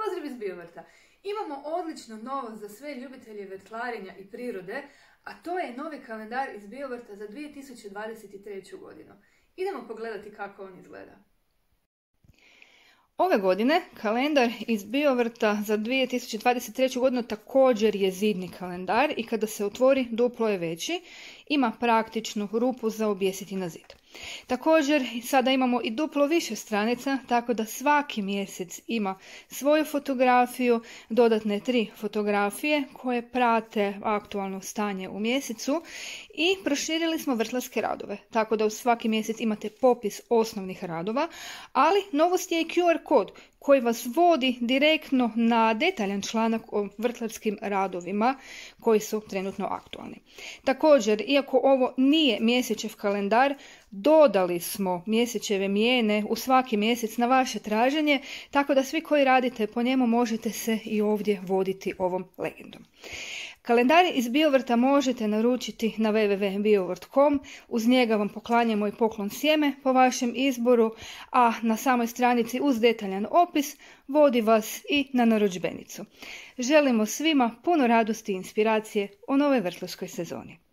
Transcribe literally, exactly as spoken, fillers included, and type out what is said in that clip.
Pozdrav iz Biovrta! Imamo odlično novost za sve ljubitelje vrtlarenja i prirode, a to je novi kalendar iz Biovrta za dvije tisuće dvadeset treću. godinu. Idemo pogledati kako on izgleda. Ove godine kalendar iz Biovrta za dvije tisuće dvadeset treću. godinu također je zidni kalendar i kada se otvori duplo je veći, ima praktičnu rupu za objesiti na zid. Također sada imamo i duplo više stranica, tako da svaki mjesec ima svoju fotografiju, dodatne tri fotografije koje prate aktualno stanje u mjesecu i proširili smo vrtlarske radove, tako da u svaki mjesec imate popis osnovnih radova, ali novost je i Q R kod koji vas vodi direktno na detaljan članak o vrtlarskim radovima koji su trenutno aktualni. Također, iako ovo nije mjesečev kalendar, dodali smo mjesečeve mijene u svaki mjesec na vaše traženje, tako da svi koji radite po njemu možete se i ovdje voditi ovom legendom. Kalendar iz Biovrta možete naručiti na w w w tačka biovrt tačka com, uz njega vam poklanjamo i poklon sjeme po vašem izboru, a na samoj stranici uz detaljan opis vodi vas i na narudžbenicu. Želimo svima puno radosti i inspiracije u novoj vrtlarskoj sezoni.